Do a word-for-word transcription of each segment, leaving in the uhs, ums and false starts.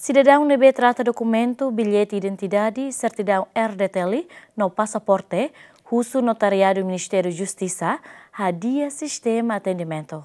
Sidadaun ne'ebé trata dokumentu, billete identidade, sertidaun R D T L no pasaporte, husu notariadu Ministériu Justisa hadi'a sistema atendimentu.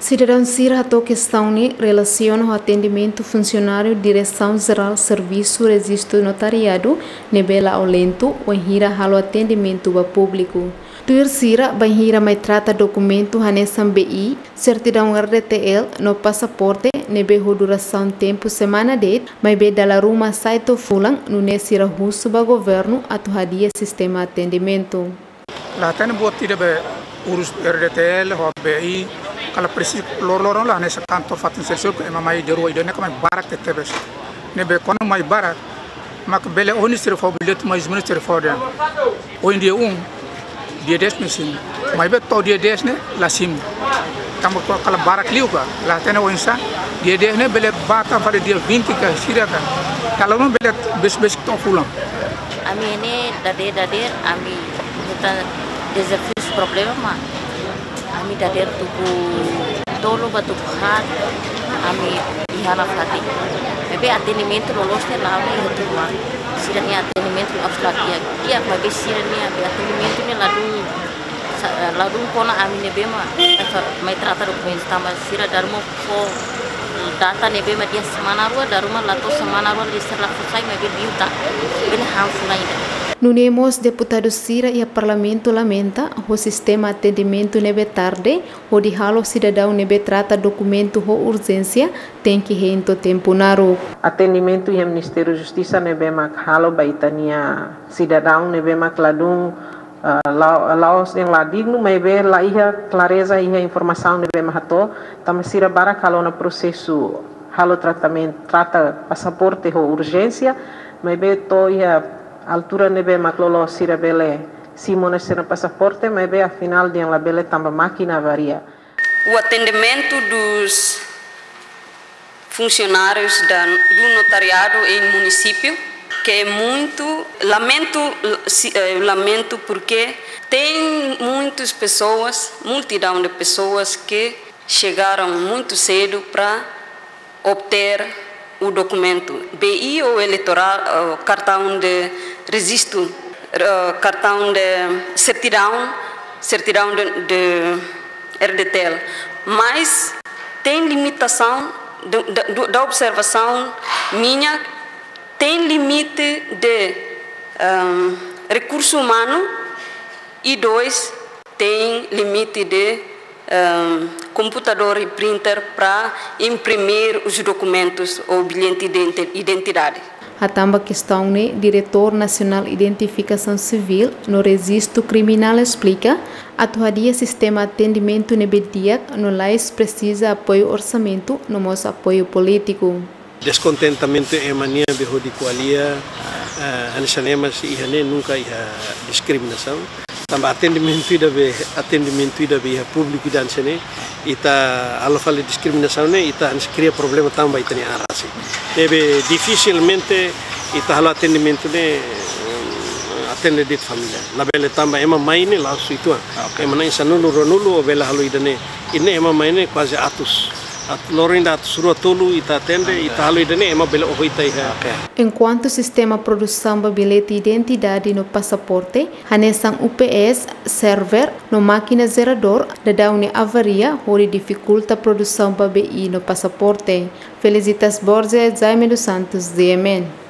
Sidadaun sira hato'o kestaun ne'e relasiona ho atendimentu funsionáriu Diresaun Jerál Servisu Rejistu Notariadu ne'ebé la'o lentu wainhira halo atendimentu ba públiku. Tuir sira, bainhira mai trata dokumentu hanesan B I, sertidaun R D T L no pasaporte ne'ebé ho durasaun tempu semana de'it, maibé dala ruma sai to'o fulan, nune'e sira husu ba governu atu hadi'a sistema atendimentu. La hatene buat ida be urus R D T L ho B I, kala presiza loroloron la hanesan kantor fatin sensor ke ema mai de rua ida ne'e ka mai barak tebes. Ne'ebé kuandu mai barak, mak bele ohin sira fó billete mais ou menos sira fó dehan. Ohin dia um, dia dez mesin. Maibé to'o dia dez ne'e la simu. Tanba kala barak liu ka, la hatene oinsá. Dia dez ne'e bele ba tan fali dia vinte ka sira ka. Kalau não bele bes-bes to'o fulan. Ami ne'e dadeer-dadeer, ami hetan dezafiu, problema mak ami dadeer tuku tolu ba tuku haat, ami iha nafatin. Maibé atendimentu loloos ne'e la'o iha tuan. Sira-nia atendimentu harus latihan. Di'ak, maibé sira-nia atendimentu ne'e ladún sa-, ladún kona ami ne'ebé mak mai trata dokumentu tanba sira dala ruma fó data ne'ebé mak dia semana rua, dala ruma la to'o semana rua, sira la fó sai, maibé biu tan. Bele han fulan ida. Nune'e mós deputadu sira iha Parlamentu lamenta ho sistema atendimentu ne'ebé tarde, hodi halo sidadaun ne'ebé trata dokumentu ho urjénsia tenke hein to'o tempu naruk. Atendimentu iha Ministériu Justisa ne'ebé mak halo ba ita-nia sidadaun ne'ebé mak ladún, ah, la-, la'ós dehan la dignu, maibé la iha klareza iha informasaun ne'ebé mak hato'o, tanba sira barak halo ona prosesu halo tratamentu, trata pasaporte ho urjénsia, maibé to'o iha altura ne'ebé mak loloos sira bele simu ona sira-nia pasaporte, maibé afinál dehan labele tanba mákina avaria. O atendimento dos funcionários da, do notariado em município, que é muito lamento, si-, eh, lamento porque tem muitas pessoas, multidão de pessoas que chegaram muito cedo para obter o documento B I ou eleitorál, ou cartão de registro, eh, cartão de certidão, certidão de, de R D T L. Mas tem limitação de, de, do, da observação minha, tem limite de, ahm, recurso humano e dois, tem limite de, ahm, computador e printer para imprimir os documentos ou bilhete de identi-, identidade. Hatán ba kestaun ne'e, Diretór Nasionál Identifikasaun Sivíl no Rejistu Kriminál esplika, atu hadi'a sistema atendimentu ne'ebé di'ak no lais presiza apoiu orsamentu no mós apoiu polítiku. Deskontentamentu ema nian be hodi ko'alia, eh, hanesan ema sei iha ne'e nunka iha diskriminasaun. Tanba atendimentu ida be, atendimentu ida be iha públiku ida hanesan ne'e, ita halo fali diskriminasaun ne'e, ita hanesan kria problema tanba ita-nia an rasik. Ne'ebé difisilmente ita halo atendimentu ne'e, eh, atende de'it família. Labele tanba ema mai ne'e la'ós uitoan. Ah, oke. Ema na'in sanulu, ruanulu, ó bele halo ida ne'e. Ida-ne'e ema mai ne'e kuaze atus. At-, loron ida atus rua tolu ita atende, ita halo ida-ne'e ema bele oho ita iha. Oke. Enkuantu sistema produsaun ba bilhete identidade no pasaporte, hanesan U P S, server, no mákina jeradór, daudaun ne'e avaria, hodi difikulta produsaun ba B I no pasaporte. Felicitas Borges, Jaime dos Santos, G M N.